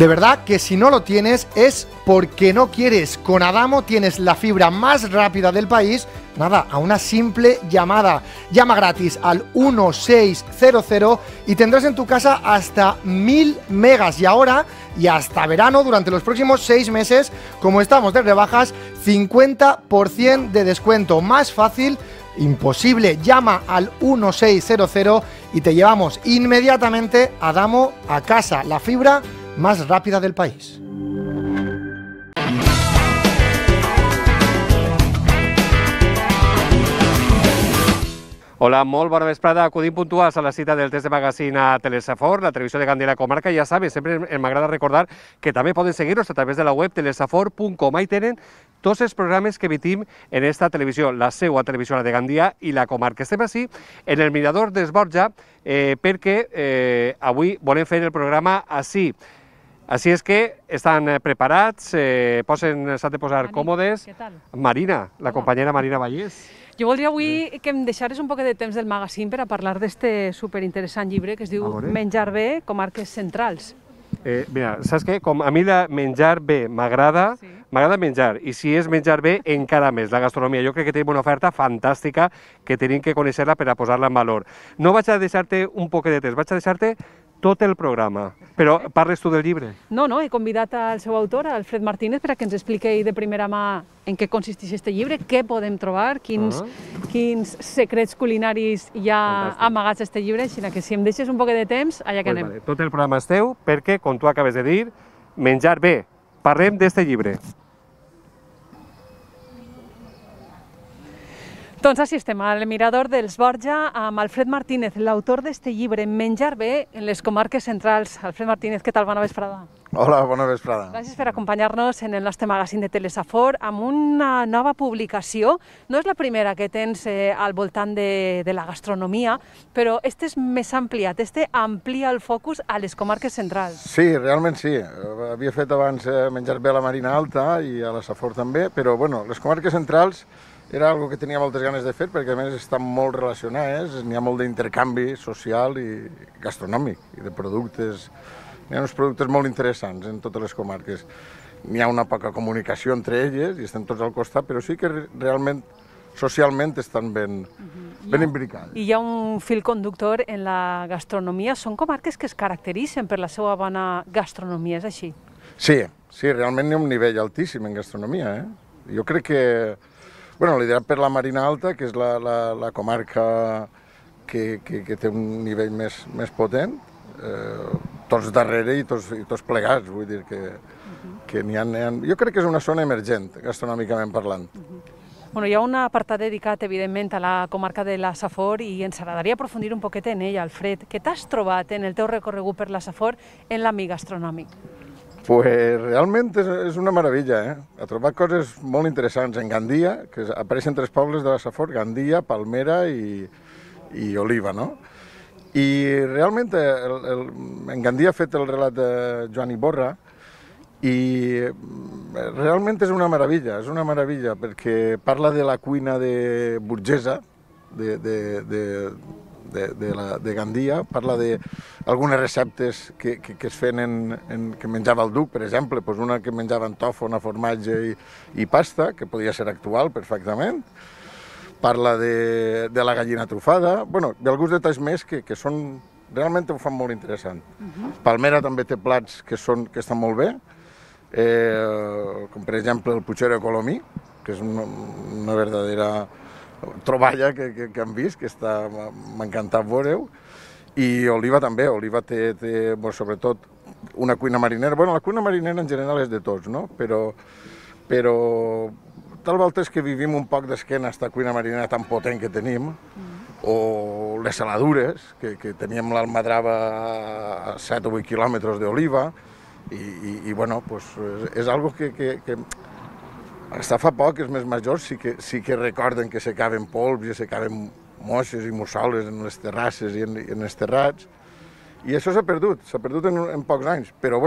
De verdad que si no lo tienes es porque no quieres. Con Adamo tienes la fibra más rápida del país, nada, a una simple llamada. Llama gratis al 1600 y tendrás en tu casa hasta 1000 megas. Y ahora, y hasta verano, durante los próximos 6 meses, como estamos de rebajas, 50% de descuento. Más fácil imposible. Llama al 1600 y te llevamos inmediatamente Adamo a casa. La fibra más rápida del país. Hola, molt bona vesprada. Acudim puntuals a la cita del test de magazine a Telesafor, la televisió de Gandia i la comarca. Ja sabes, sempre m'agrada recordar que també poden seguir-nos a través de la web telesafor.com. Ahí tenen tots els programes que emitim en esta televisió, la seva televisió, la de Gandia i la comarca. Estem així en el Mirador d'Esborja perquè avui volem fer el programa així. Així és que estan preparats, s'han de posar còmodes. Què tal? Marina, la companyera Marina Vallès. Jo voldria avui que em deixares un poc de temps del magazín per a parlar d'este superinteressant llibre que es diu Menjar bé, comarques centrals. Mira, saps què? Com a mi menjar bé m'agrada, m'agrada menjar, i si és menjar bé, encara més, la gastronomia. Jo crec que tenim una oferta fantàstica que tenim que conèixer-la per a posar-la en valor. No vaig a deixar-te un poc de temps, vaig a deixar-te tot el programa. Però parles tu del llibre? No, he convidat al seu autor, Alfred Martínez, per a que ens expliqui de primera mà en què consisteix aquest llibre, què podem trobar, quins secrets culinaris hi ha amagats a aquest llibre, així que si em deixes un poc de temps, allà que anem. Tot el programa és teu perquè, com tu acabes de dir, menjar bé. Parlem d'aquest llibre. Doncs així estem, al Mirador d'Esborja, amb Alfred Martínez, l'autor d'aquest llibre, Menjar bé en les comarques centrals. Alfred Martínez, què tal? Bona vesprada. Hola, bona vesprada. Gràcies per acompanyar-nos en el nostre magazín de Telesafor amb una nova publicació. No és la primera que tens al voltant de la gastronomia, però este és més ampliat, este amplia el focus a les comarques centrals. Sí, realment sí. Havia fet abans Menjar bé a la Marina Alta i a la Safor també, però bueno, les comarques centrals era algo que tenia moltes ganes de fer perquè a més estan molt relacionades, n'hi ha molt d'intercanvi social i gastronòmic i de productes. Hi ha uns productes molt interessants en totes les comarques. N'hi ha una poca comunicació entre elles i estem tots al costat, però sí que realment socialment estan ben imbricades. I hi ha un fil conductor en la gastronomia. Són comarques que es caracteritzen per la seva bona gastronomia, és així? Sí, realment hi ha un nivell altíssim en gastronomia. Jo crec que liderat per la Marina Alta, que és la comarca que té un nivell més potent, tots darrere i tots plegats, vull dir que n'hi ha... Jo crec que és una zona emergent, gastronòmicament parlant. Hi ha un apartat dedicat, evidentment, a la comarca de la Safor i ens agradaria aprofundir un poquet en ella, Alfred. Què t'has trobat en el teu recorregut per la Safor en l'àmbit gastronòmic? Pues realment és una meravella, Ha trobat coses molt interessants en Gandia, que apareixen 3 pobles de la Safor, Gandia, Palmera i Oliva, no? I realment en Gandia ha fet el relat de Joan Iborra i realment és una meravella, perquè parla de la cuina burgesa de Gandia, parla d'algunes receptes que es feien, que menjava el duc, per exemple, una que menjaven tòfona, formatge i pasta, que podia ser actual perfectament. Parla de la gallina trufada, d'alguns detalls més que realment ho fan molt interessant. Palmera també té plats que estan molt bé, com per exemple el puchero de Colomí, que és una verdadera troballa que hem vist, que m'ha encantat veure-ho, i Oliva també. Oliva té sobretot una cuina marinera. La cuina marinera en general és de tots, no? Però tal volta és que vivim un poc d'esquena a aquesta cuina marinera tan potent que tenim, o les saladures, que teníem l'Almadrava a 7 o 8 quilòmetres d'Oliva, i és algo que hasta fa poc, els més majors sí que recorden que s'acaben polps i s'acaben moixes i mussoles en les terrasses i en els terrats. I això s'ha perdut en pocs anys, però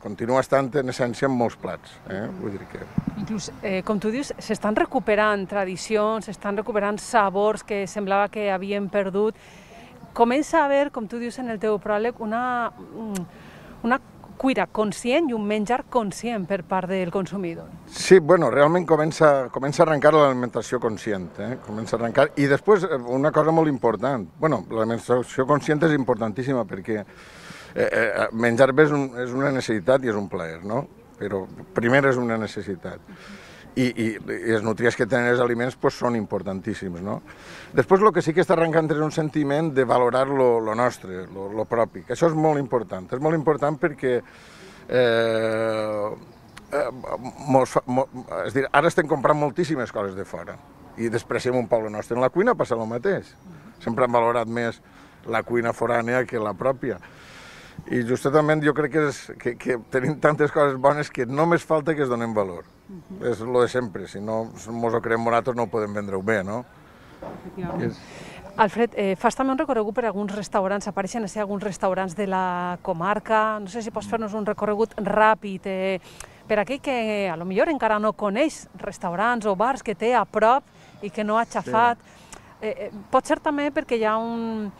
continua estant en essència en molts plats. Vull dir que... Inclús, com tu dius, s'estan recuperant tradicions, s'estan recuperant sabors que semblava que havien perdut. Comença a haver, com tu dius en el teu pròleg, una cuira conscient i un menjar conscient per part del consumidor. Sí, bueno, realment comença a arrencar l'alimentació conscient, comença a arrencar. I després, una cosa molt important, bueno, l'alimentació conscient és importantíssima perquè menjar bé és una necessitat i és un plaer, no? Però primer és una necessitat. I els nutrients que tenen els aliments pues, són importantíssims, no? Després el que sí que està arrencant és un sentiment de valorar lo nostre, lo propi, que això és molt important. És molt important perquè és dir, ara estem comprant moltíssimes coses de fora i despreciem un poc lo nostre. En la cuina passa el mateix. Sempre han valorat més la cuina forània que la pròpia. I justament jo crec que tenim tantes coses bones que només falta que es donem valor. És el de sempre, si no ens ho creem nosaltres no ho podem vendre-ho bé, no? Alfred, fas també un recorregut per alguns restaurants, apareixen alguns restaurants de la comarca, no sé si pots fer-nos un recorregut ràpid per aquell que a lo millor encara no coneix restaurants o bars que té a prop i que no ha xafat. Pot ser també perquè hi ha un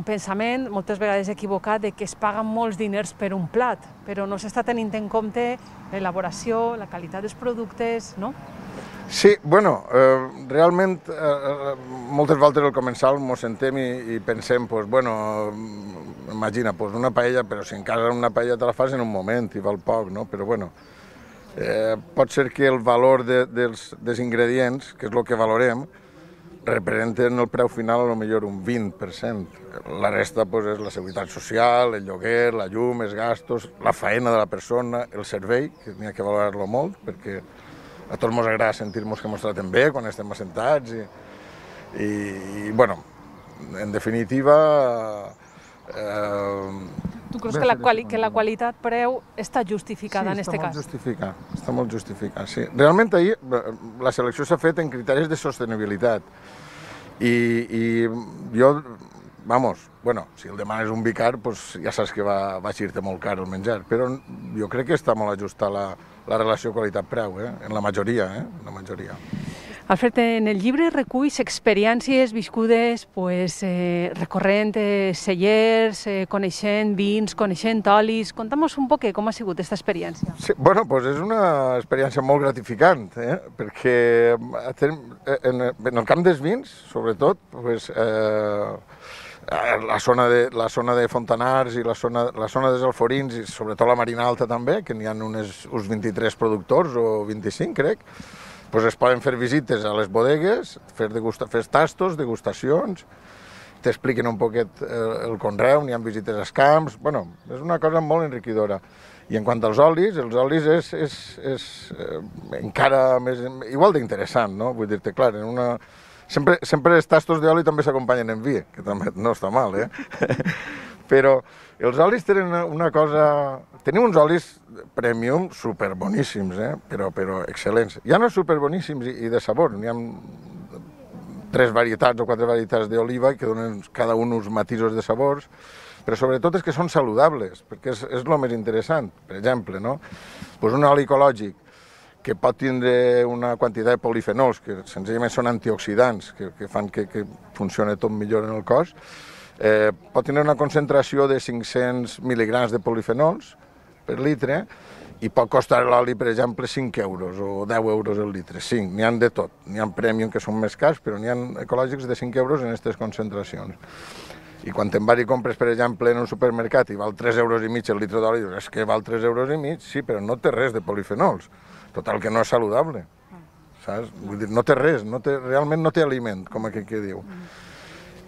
pensament, moltes vegades equivocat, de que es paguen molts diners per un plat, però no s'està tenint en compte l'elaboració, la qualitat dels productes, no? Sí, bueno, realment moltes voltes al començar ens sentem i pensem, pues, bueno, imagina, pues, una paella, però si en casa una paella te la fas en un moment i val poc, no? Però bueno, pot ser que el valor dels ingredients, que és el que valorem, representen el preu final a lo millor un 20%. La resta pues, és la seguretat social, el lloguer, la llum, els gastos, la feina de la persona, el servei, que n'hi ha que valorar-lo molt, perquè a tots ens agrada sentir-nos que ens traten bé quan estem assentats i bueno, en definitiva... Tu creus que la qualitat-preu està justificada en aquest cas? Sí, està molt justificat, sí. Realment ahir la selecció s'ha fet en criteris de sostenibilitat i jo, bueno, si el demanes un vi car, pues ja saps que va eixir-te molt car el menjar, però jo crec que està molt ajustada la relació qualitat-preu, en la majoria, en la majoria. Alfred, en el llibre reculls experiències viscudes recorrent cellers, coneixent vins, coneixent olis. Conta'm un poc com ha sigut aquesta experiència. Sí, bueno, és una experiència molt gratificant, perquè en el camp dels vins, sobretot, la zona de Fontanars i la zona dels Alforins, i sobretot la Marina Alta també, que n'hi ha uns 23 productors o 25, crec, es poden fer visites a les bodegues, fer tastos, degustacions, t'expliquen un poquet el conreu, n'hi ha visites als camps, bueno, és una cosa molt enriquidora. I en quant als olis, els olis és encara més, igual d'interessant, no? Vull dir-te, clar, sempre els tastos d'oli també s'acompanyen en vi, que també no està mal, Però els olis tenen una cosa... Tenim uns olis premium superboníssims, però excel·lents. Ja no superboníssims i de sabor, n'hi ha 3 varietats o 4 varietats d'oliva que donen cada un uns matisos de sabors, però sobretot és que són saludables, perquè és el més interessant. Per exemple, no? Un oli ecològic que pot tindre una quantitat de polifenols, que senzillament són antioxidants, que fan que funcioni tot millor en el cos, pot tenir una concentració de 500 mil·ligrams de polifenols per litre i pot costar l'oli, per exemple, 5 euros o 10 euros el litre. 5, n'hi ha de tot. N'hi ha premium que són més cars, però n'hi ha ecològics de 5 euros en aquestes concentracions. I quan te'n vas i compres, per exemple, en un supermercat i val 3 euros i mig el litre d'oli, dius, és que val 3 euros i mig? Sí, però no té res de polifenols. Total, que no és saludable. Saps? Vull dir, no té res, realment no té aliment, com aquell que diu.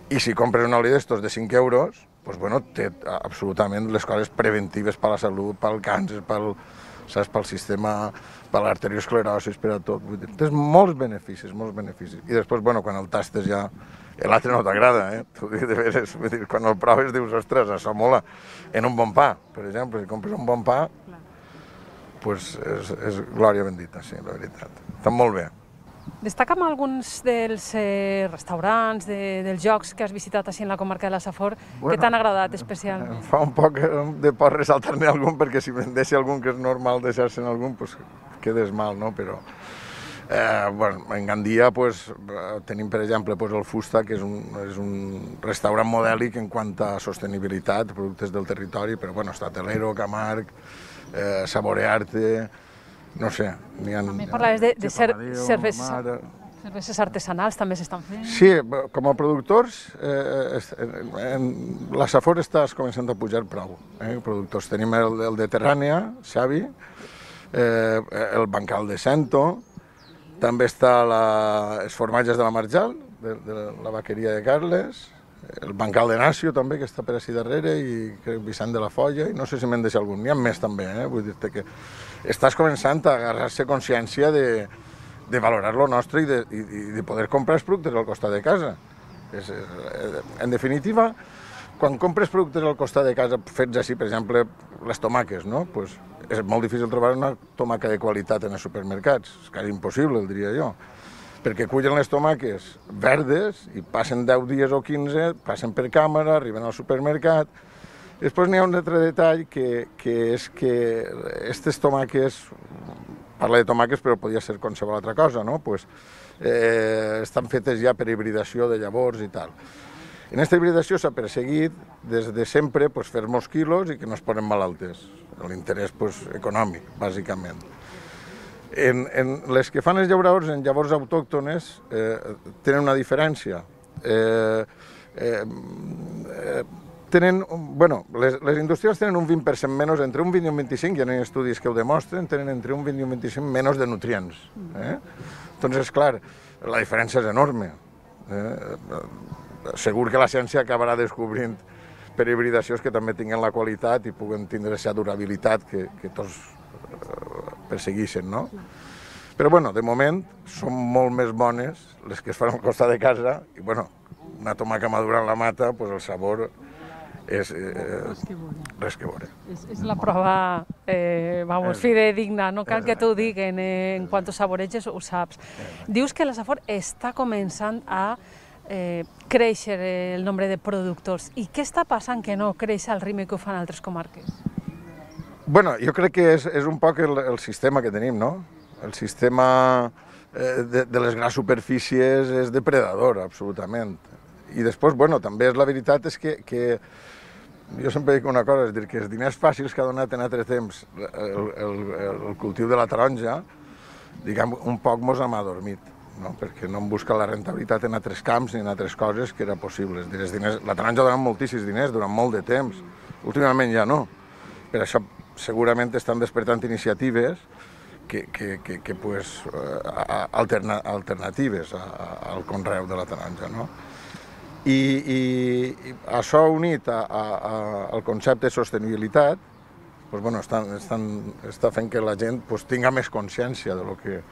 I si compres un oli d'estos de 5 euros, doncs, bueno, té absolutament les coses preventives per a la salut, pel càncer, pel sistema, per l'arteriosclerosi, per a tot. Vull dir, té molts beneficis, molts beneficis. I després, bueno, quan el tastes ja, l'altre no t'agrada, T'ho dic de veres, vull dir, quan el proves dius, ostres, això mola. En un bon pa, per exemple, si compres un bon pa, doncs és glòria bendita, sí, la veritat. Està molt bé. Destaca'm alguns dels restaurants, dels llocs que has visitat així en la comarca de la Safor, que t'han agradat especialment. Fa un poc de por ressaltar-ne algun, perquè si me'n deixa algun que és normal deixar-se'n algun, doncs quedes mal, no? Però En Gandia tenim, per exemple, el Fusta, que és un restaurant modèlic en quant a sostenibilitat, productes del territori, però està Telero, Camarg, Saborearte, no sé. També parlaves de cerveses artesanals, també s'estan fent. Sí, com a productors, la Safor està començant a pujar prou. Productors tenim el de Terrània, Xavi, el Bancal de Cento, també està els formatges de la Marjal, de la vaqueria de Carles, el Bancal de Nacio també, que està per així darrere, i Vicent de la Folla, i no sé si m'en deixa algun, n'hi ha més també, vull dir-te que estàs començant a agarrar-se consciència de valorar lo nostre i de poder comprar els productes al costat de casa. En definitiva, quan compres productes al costat de casa fets així, per exemple, les tomaques, no? És molt difícil trobar una tomaca de qualitat en els supermercats, és quasi impossible, el diria jo, perquè cullen les tomaques verdes i passen 10 dies o 15, passen per càmera, arriben al supermercat. Després n'hi ha un altre detall que és que aquestes tomaques, parla de tomaques però podria ser qualsevol altra cosa, no? Estan fetes ja per hibridació de llavors i tal. En aquesta hibridació s'ha perseguit des de sempre fer molts quilos i que no es posen malaltes, l'interès econòmic, bàsicament. Les que fan els llauradors en llavors autòctones tenen una diferència. Les industrials tenen un 20% menys, entre un 20 i un 25, hi ha estudis que ho demostren, tenen entre un 20 i un 25 menys de nutrients. Doncs, clar, la diferència és enorme. Segur que la ciència acabarà descobrint per hibridacions que també tinguen la qualitat i puguen tindre aquesta durabilitat que tots persegueixen, no? Però, de moment, són molt més bones les que es fan al costat de casa i, una tomaca madura en la mata, el sabor és res que veure. És la prova, fidedigna, no cal que t'ho diguen, en quant ho saboreges ho saps. Dius que la Safor està començant a créixer el nombre de productors. I què està passant que no creix al ritme que ho fan altres comarques? Jo crec que és un poc el sistema que tenim, no? El sistema de les grans superfícies és depredador, absolutament. I després, també la veritat és que jo sempre dic una cosa, és dir, que els diners fàcils que ha donat en altres temps el cultiu de la taronja, diguem, un poc mos hem adormit, perquè no hem buscat la rentabilitat en altres camps ni en altres coses que era possible. La taronja ha donat moltíssims diners durant molt de temps, últimament ja no. Per això segurament estan despertant iniciatives alternatives al conreu de la taronja. I això unit al concepte de sostenibilitat està fent que la gent tingui més consciència del que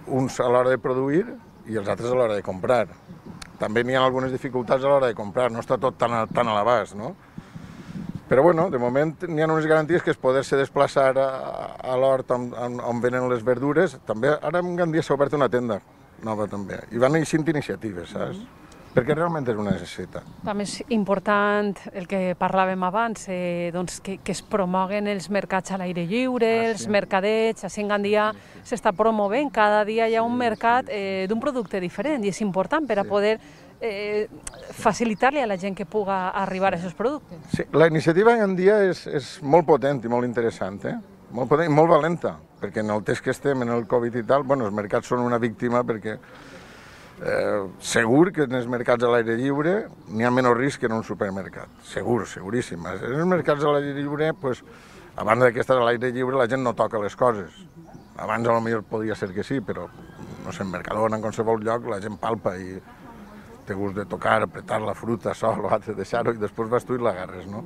uns a l'hora de produir i els altres a l'hora de comprar. També n'hi ha algunes dificultats a l'hora de comprar, no està tot tan a l'abast, no? Però, de moment n'hi ha unes garanties que és poder-se desplaçar a l'hort on venen les verdures. També, ara en Gandia s'ha obert una tenda nova també, i van eixint iniciatives, saps? Perquè realment és una necessitat. També és important el que parlàvem abans, que es promoguen els mercats a l'aire lliure, els mercadets. Així en Gandia s'està promovent, cada dia hi ha un mercat d'un producte diferent i és important per a poder facilitar-li a la gent que puga arribar a aquests productes. Sí, la iniciativa en Gandia és molt potent i molt interessant, molt potent i molt valenta, perquè en el temps que estem, en el Covid i tal, els mercats són una víctima perquè segur que en els mercats a l'aire lliure n'hi ha menys risc que en un supermercat, segur, seguríssim. En els mercats a l'aire lliure, a banda que estàs a l'aire lliure, la gent no toca les coses. Abans potser podia ser que sí, però no sé, en Mercadona, en qualsevol lloc, la gent palpa i té gust de tocar, apretar la fruta, això, l'altre, deixar-ho i després vas tu i l'agarres, no?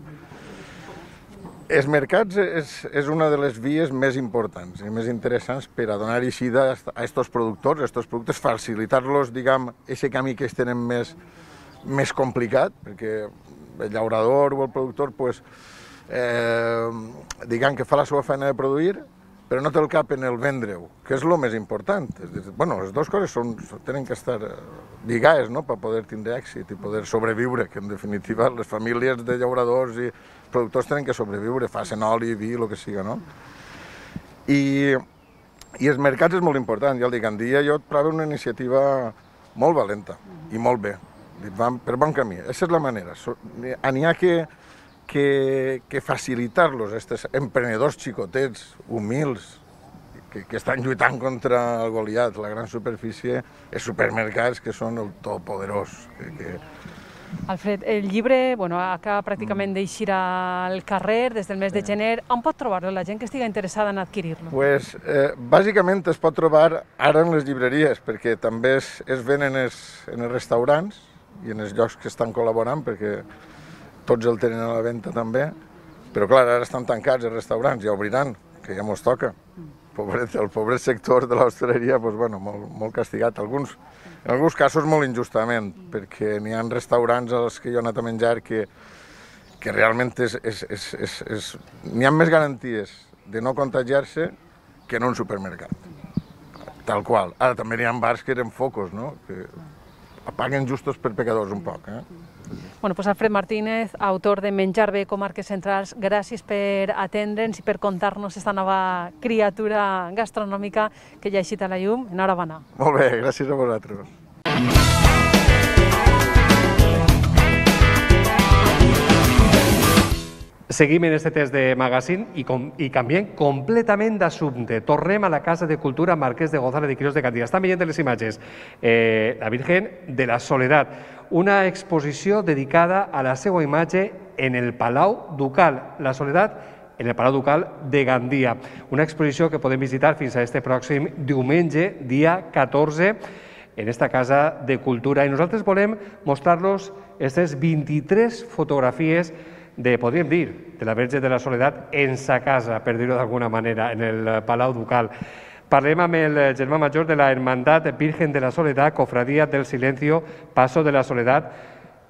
Els mercats és una de les vies més importants i més interessants per a donar eixida a aquests productes, facilitar-los, diguem, aquest camí que ells tenen més complicat, perquè el llaurador o el productor, diguem que fa la seva feina de produir, però no té el cap en el vendre-ho, que és el més important. Les dues coses tenen que estar lligades per poder tindre èxit i poder sobreviure, que en definitiva les famílies de llauradors i productors tenen que sobreviure, facin oli, vi, el que siga, no? I I els mercats és molt important, ja el dic, Gandia jo trobo una iniciativa molt valenta i molt bé, van per bon camí, aquesta és la manera. N'hi ha que facilitar-los, aquests emprenedors xicotets, humils, que estan lluitant contra el Goliat, la gran superfície, els supermercats que són el todopoderós. Alfred, el llibre acaba pràcticament d'eixir al carrer des del mes de gener. On pot trobar-lo la gent que estigui interessada en adquirir-lo? Bàsicament es pot trobar ara en les llibreries, perquè també es venen en els restaurants i en els llocs que estan col·laborant, perquè tots el tenen a la venda també, però clar, ara estan tancats els restaurants, ja obriran, que ja mos toca. El pobret sector de l'hostaleria, molt castigat. En alguns casos molt injustament, perquè n'hi ha restaurants als que jo he anat a menjar que realment n'hi ha més garanties de no contagiar-se que en un supermercat. Tal qual. Ara també n'hi ha bars que eren focos, no? Que apaguen justos per pecadors un poc. Pues Alfred Martínez, autor de Menjar bé, Comarques Centrals, gràcies per atendre'ns i per contar-nos aquesta nova criatura gastronòmica que ja ha eixit a la llum. Enhorabona. Molt bé, gràcies a vosaltres. Seguim en este test de magazine i canviem completament d'assumpte. Tornem a la Casa de Cultura Marquès de González de Quirós de Gandia. Estan veient les imatges. La Virgen de la Soledat, una exposició dedicada a la seva imatge en el Palau Ducal. La Soledat en el Palau Ducal de Gandia. Una exposició que podem visitar fins a este pròxim diumenge, dia 14, en esta Casa de Cultura. I nosaltres volem mostrar-los aquestes 23 fotografies podríem dir, de la Verge de la Soledat en sa casa, per dir-ho d'alguna manera, en el Palau Ducal. Parlem amb el germà major de la Hermandad Virgen de la Soledat, Cofradía del Silencio, Paso de la Soledat,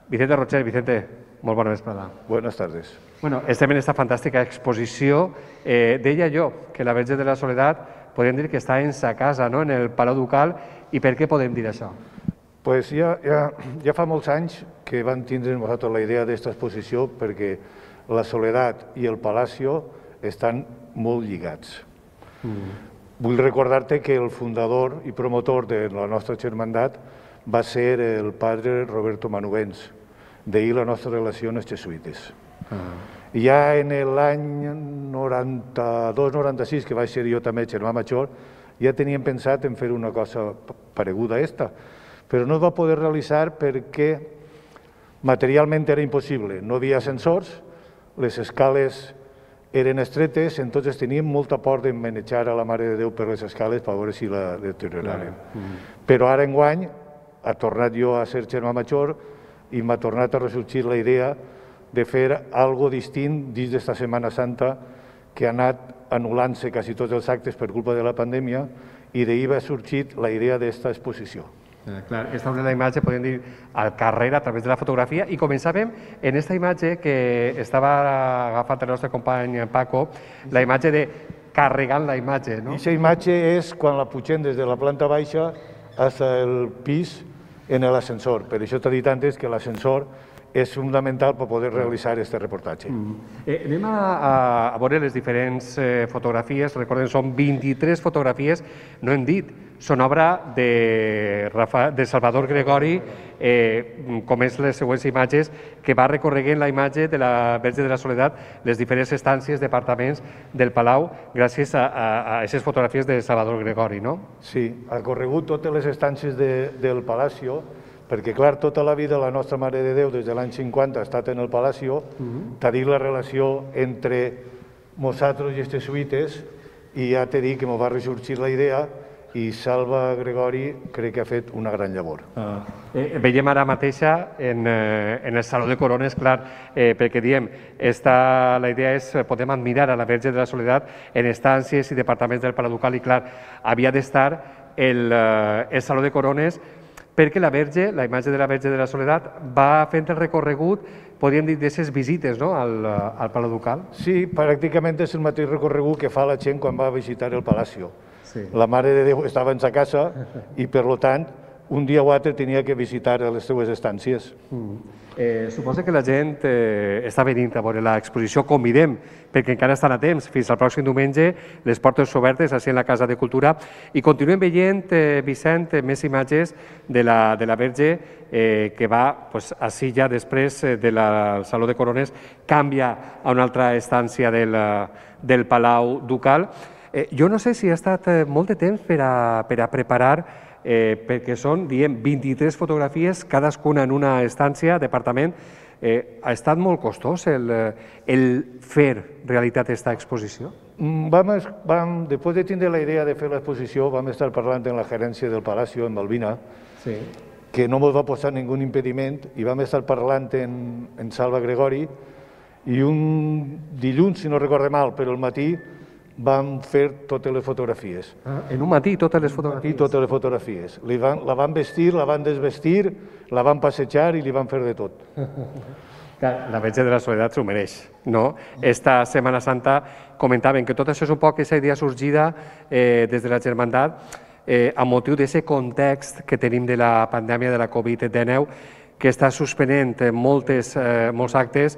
Vicente Rocher. Vicente, molt bona vesprada. Buenas tardes. Estem en aquesta fantàstica exposició. Deia jo que la Verge de la Soledat podem dir que està en sa casa, en el Palau Ducal, i per què podem dir això? Pues ja fa molts anys que van tindre nosaltres la idea d'aquesta exposició perquè la Soledat i el Palacio estan molt lligats. Vull recordar-te que el fundador i promotor de la nostra germandat va ser el padre Roberto Manubens, d'ahir la nostra relació amb els jesuïtes. Ja en l'any 92-96, que vaig ser jo també germà major, ja teníem pensat en fer una cosa pareguda a aquesta, però no es va poder realitzar perquè materialment era impossible. No havia ascensors, les escales eren estretes, entonces teníem molta por de manejar a la Mare de Déu per les escales per veure si la deterioraren. Però ara enguany ha tornat jo a ser germà major i m'ha tornat a ressorgir la idea de fer algo distint dins d'esta Setmana Santa que ha anat anul·lant-se quasi tots els actes per culpa de la pandèmia i d'ahir va sorgir la idea d'esta exposició. Clar, aquesta és la imatge, podem dir, al carrer a través de la fotografia, i començàvem en aquesta imatge que estava agafat el nostre company Paco, la imatge de carregant la imatge, no? Aquesta imatge és quan la pugem des de la planta baixa fins al pis en l'ascensor. Per això t'he dit antes que l'ascensor és fundamental per poder realitzar aquest reportatge. Anem a veure les diferents fotografies. Recordem, són 23 fotografies, no hem dit, són obra de Salvador Gregori, com és les següents imatges, que va recorreguent la imatge de la Verge de la Soledat, les diferents estàncies, departaments del Palau, gràcies a aquestes fotografies de Salvador Gregori, no? Sí, ha corregut totes les estàncies del Palacio, perquè, clar, tota la vida la nostra Mare de Déu, des de l'any 50, ha estat en el Palacio, t'ha dit la relació entre nosaltres i els jesuïtes, i ja t'he dit que m'ho va ressorgir la idea, i Salva Gregori crec que ha fet una gran llavor. Veiem ara mateixa en el Saló de Corones, clar, perquè diem, la idea és, podem admirar a la Verge de la Soledat en estàncies i departaments del Palau Ducal, i clar, havia d'estar el Saló de Corones, perquè la Verge, la imatge de la Verge de la Soledat, va fent el recorregut, podríem dir, d'aquestes visites al Palau Ducal? Sí, pràcticament és el mateix recorregut que fa la gent quan va a visitar el Palacio. La Mare de Déu estava en sa casa i, per tant, un dia o altre tenia que visitar les seues estàncies. Suposo que la gent està venint a veure l'exposició. Convidem, perquè encara estan a temps, fins al pròxim diumenge, les portes obertes així en la Casa de Cultura, i continuem veient, Vicent, més imatges de la Verge que va així ja després del Saló de Corones, canvia a una altra estància del Palau Ducal. Jo no sé si ha estat molt de temps per a preparar, perquè són, diem, 23 fotografies, cadascuna en una estància, departament. Ha estat molt costós el fer realitat aquesta exposició? Després de tindre la idea de fer l'exposició, vam estar parlant amb la gerència del Palacio, amb Albina, que no ens va posar ningú impediment, i vam estar parlant amb Salva Gregori, i un dilluns, si no recorde mal, però al matí, vam fer totes les fotografies. En un matí totes les fotografies? Sí, totes les fotografies. La van vestir, la van desvestir, la van passejar i li van fer de tot. La Verge de la Soledat s'ho mereix, no? Esta Setmana Santa comentaven que tot això és un poc aquesta idea sorgida des de la Germandat a motiu d'aquest context que tenim de la pandèmia de la Covid-19, que està suspenent molts actes.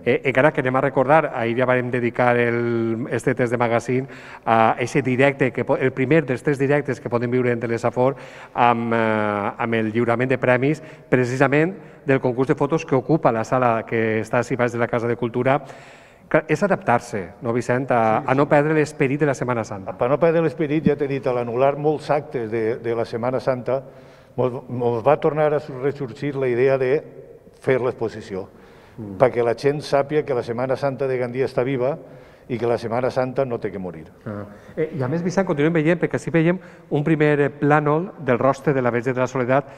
Encara que anem a recordar, ahir ja vam dedicar este test de magazine a aquest directe, el primer dels 3 directes que podem viure en Telesafor amb el lliurament de premis, precisament del concurs de fotos que ocupa la sala que està a baix de la Casa de Cultura. És adaptar-se, no, Vicent, a no perdre l'esperit de la Setmana Santa. Per no perdre l'esperit, ja t'he dit, a l'anul·lar molts actes de la Setmana Santa, ens va tornar a ressorgir la idea de fer l'exposició, perquè la gent sàpiga que la Setmana Santa de Gandia està viva i que la Setmana Santa no té que morir. I a més, Vicent, continuem veient, perquè així veiem un primer plànol del rostre de la Verge de la Soledat.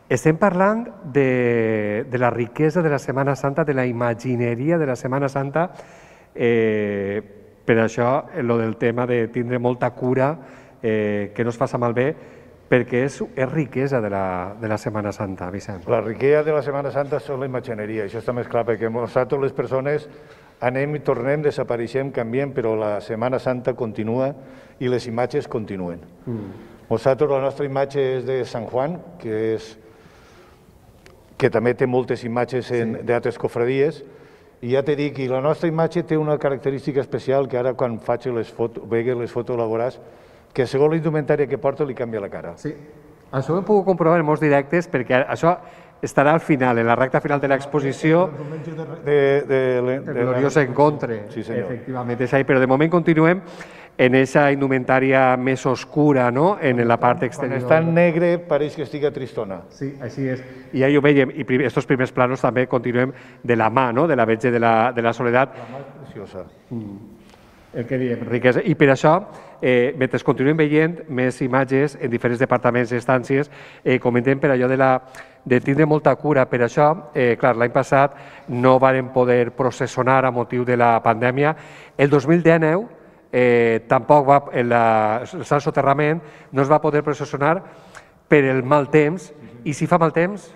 Estem parlant de la riquesa de la Setmana Santa, de la imagineria de la Setmana Santa. Per això, el del tema de tindre molta cura, que no es faça malbé, perquè és riquesa de la Setmana Santa, Vicent. La riquesa de la Setmana Santa és la imagineria, això està més clar, perquè nosaltres les persones anem i tornem, desapareixem, canviem, però la Setmana Santa continua i les imatges continuen. Nosaltres, la nostra imatge és de Sant Juan, que també té moltes imatges d'altres cofradies, i ja t'he dit que la nostra imatge té una característica especial que ara quan faig les fotos la veuràs, que segons la indumentària que porta li canvia la cara. Sí, això ho hem pogut comprovar en molts directes, perquè això estarà al final, en la recta final de l'exposició. El gloriós encontre, efectivament, és ahí, però de moment continuem en aquesta indumentària més oscura, no?, en la part exterior. Quan està en negre pareix que estiga tristona. Sí, així és. I ja ho veiem, i aquests primers planos també continuem de la mà, no?, de la Verge de la Soledat. La mà és preciosa. El que diem, riquesa. I per això, mentre continuem veient més imatges en diferents departaments i estàncies, comentem per allò de tindre molta cura. Per això, clar, l'any passat no varen poder processionar a motiu de la pandèmia. El 2019 tampoc el Sant Soterrament no es va poder processionar per el mal temps, i si fa mal temps,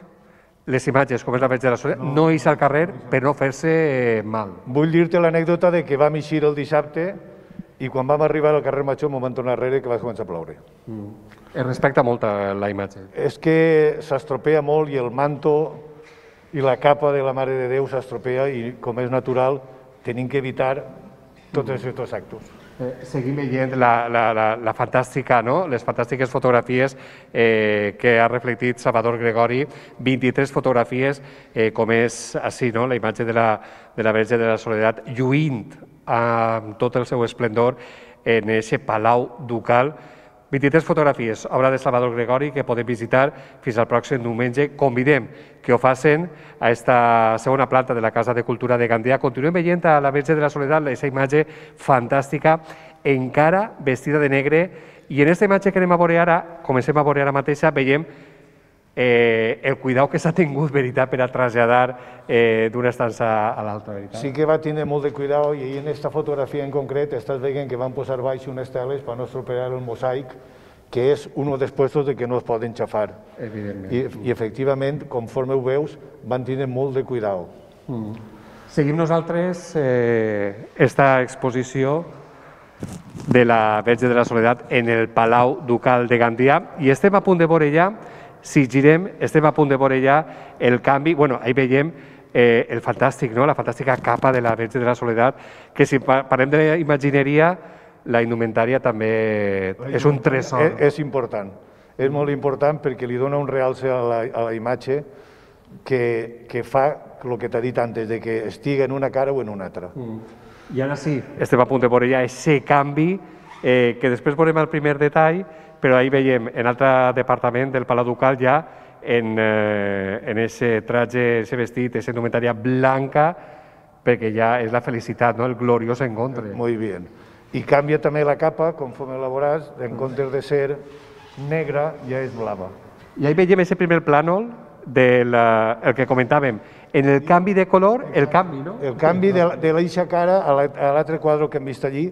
les imatges, com és la Verge de la Soledat, no ix al carrer per no fer-se mal. Vull dir-te l'anècdota de que vam eixir el dissabte i quan vam arribar al carrer Major m'ho van tornar darrere que va començar a ploure. Es respecta molt la imatge. És que s'estropea molt i el manto i la capa de la Mare de Déu s'estropea i, com és natural, tenim que evitar tots aquests actes. Seguim veient la fantàstica, no?, les fantàstiques fotografies que ha reflectit Salvador Gregori, 23 fotografies, com és així, no?, la imatge de la Verge de la Soledat lluint amb tot el seu esplendor en aquest Palau Ducal. 23 fotografies, obra de Salvador Gregori, que podem visitar fins al pròxim diumenge. Convidem que ho facin a aquesta segona planta de la Casa de Cultura de Gandia. Continuem veient a la Verge de la Soledat, aquesta imatge fantàstica, encara vestida de negre, i en aquesta imatge que anem a veure ara, comencem a veure ara mateixa, veiem el cuidau que s'ha tingut, veritat, per a traslladar d'una estança a l'altra, veritat. Sí que va tindre molt de cuidado, i en aquesta fotografia en concret estàs veient que van posar baix unes teles per no estropear el mosaic, que és un dels puestos de que no es poden xafar. Evidentment. I efectivament, conforme ho veus, van tindre molt de cuidado. Seguim nosaltres esta exposició de la Verge de la Soledat en el Palau Ducal de Gandia, i estem a punt de veure ja si girem, estem a punt de veure ja el canvi. Bueno, ahí veiem el fantàstic, no? La fantàstica capa de la Verge de la Soledat, que si parlem d'imagineria, la indumentària també és un tresor. És important, és molt important perquè li dona un realce a la imatge que fa el que t'ha dit antes, de que estigui en una cara o en una altra. I ara sí, estem a punt de veure ja aquest canvi, que després veurem el primer detall, però ahí veiem en altre departament del Palau Ducal ja en aquest traje, aquest vestit, aquesta indumentària blanca, perquè ja és la felicitat, no? El gloriós encontre. Muy bien. I canvia també la capa, conforme la veuràs, en comptes de ser negra, ja és blava. I ahí veiem aquest primer plànol del que comentàvem. En el canvi de color, el canvi, no? El canvi de l'eixa cara a l'altre quadre que hem vist allí,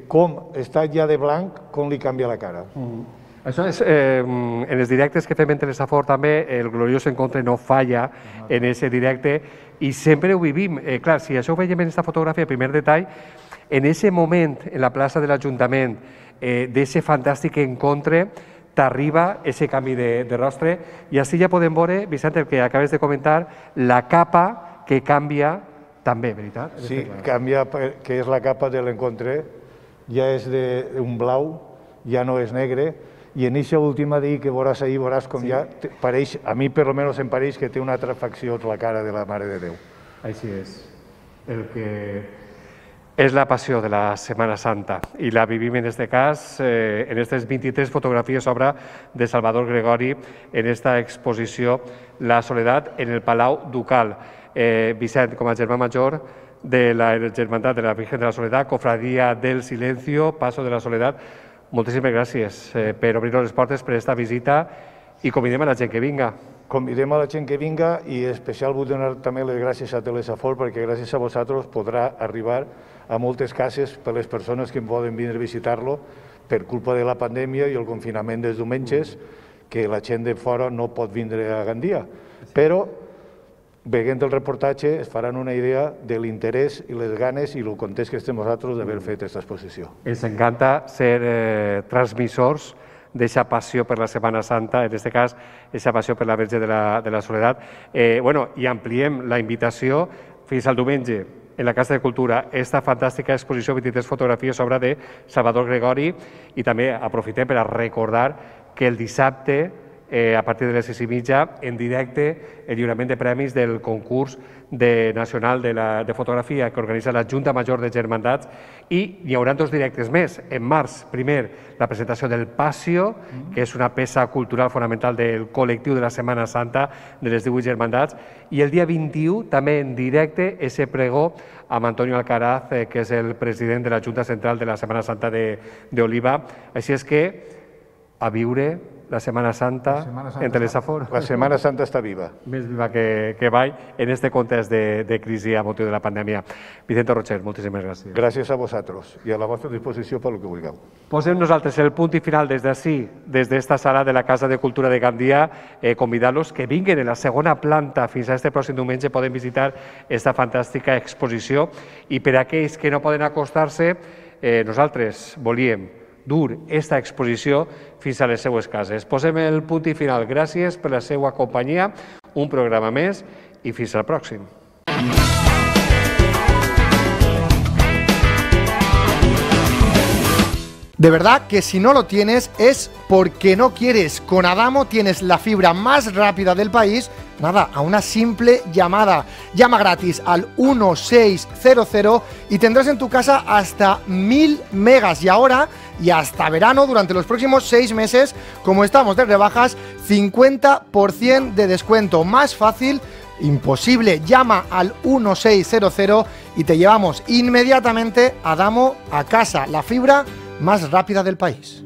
com està ja de blanc, com li canvia la cara. Això és, en els directes que fem en Telesafor també, el gloriós encontre no falla en aquest directe i sempre ho vivim. Clar, si això ho veiem en aquesta fotografia, el primer detall, en aquest moment, en la plaça de l'Ajuntament, d'aquest fantàstic encontre, t'arriba aquest canvi de rostre i així ja podem veure, Vicent, el que acabes de comentar, la capa que canvia també, veritat? Sí, canvia, que és la capa de l'encontre, ja és d'un blau, ja no és negre, i en aquesta última d'ahir que veuràs ahir, veuràs com ja pareix, a mi per almenys em pareix que té una altra facció la cara de la Mare de Déu. Així és. El que és la passió de la Setmana Santa i la vivim en aquest cas, en aquestes 23 fotografies obra de Salvador Gregori en aquesta exposició La Soledat en el Palau Ducal. Vicent, com a germà major de la Germandat de la Virgen de la Soledat, Cofradía del Silencio, Paso de la Soledat, moltíssimes gràcies per obrir-nos les portes per aquesta visita i convidem a la gent que vinga. Convidem a la gent que vinga i especial vull donar també les gràcies a Telesafor perquè gràcies a vosaltres podrà arribar a moltes cases per les persones que poden vindre a visitar-lo per culpa de la pandèmia i el confinament dels diumenges, que la gent de fora no pot vindre a Gandia. Però, veient el reportatge, es faran una idea de l'interès i les ganes i el context que estem nosaltres d'haver fet aquesta exposició. Ens encanta ser transmissors d'aquesta passió per la Setmana Santa, en aquest cas, aquesta passió per la Verge de la Soledat. I ampliem la invitació fins al diumenge en la Casa de Cultura, aquesta fantàstica exposició 23 fotografies obra de Salvador Gregori i també aprofitem per a recordar que el dissabte, a partir de les 6:30, en directe, el lliurament de premis del concurs nacional de fotografia que organitza la Junta Major de Germandats i hi haurà 2 directes més. En març, primer, la presentació del Pasio, que és una peça cultural fonamental del col·lectiu de la Setmana Santa de les 18 Germandats, i el dia 21, també en directe, ese pregó amb Antonio Alcaraz, que és el president de la Junta Central de la Setmana Santa d'Oliva. Així és que, a viure la Setmana Santa en Telesafor. La Setmana Santa està viva. Més viva que mai en aquest context de crisi a motiu de la pandèmia. Vicente Rocher, moltíssimes gràcies. Gràcies a vosaltres i a la vostra disposició per el que vulgueu. Posem nosaltres el punt i final des d'ací, des d'esta sala de la Casa de Cultura de Gandia, convidar-los que vinguin en la segona planta fins a este pròxim diumenge, poden visitar aquesta fantàstica exposició i per a aquells que no poden acostar-se, nosaltres volíem dur aquesta exposició fins a les seues cases. Posem el punt i final. Gràcies per la seva companyia, un programa més i fins al pròxim. De verdad que si no lo tienes es porque no quieres. Con Adamo tienes la fibra más rápida del país, nada, a una simple llamada. Llama gratis al 1600 y tendrás en tu casa hasta 1000 megas. Y ahora, y hasta verano, durante los próximos 6 meses, como estamos de rebajas, 50% de descuento. Más fácil, imposible. Llama al 1600 y te llevamos inmediatamente Adamo a casa. La fibra más rápida del país.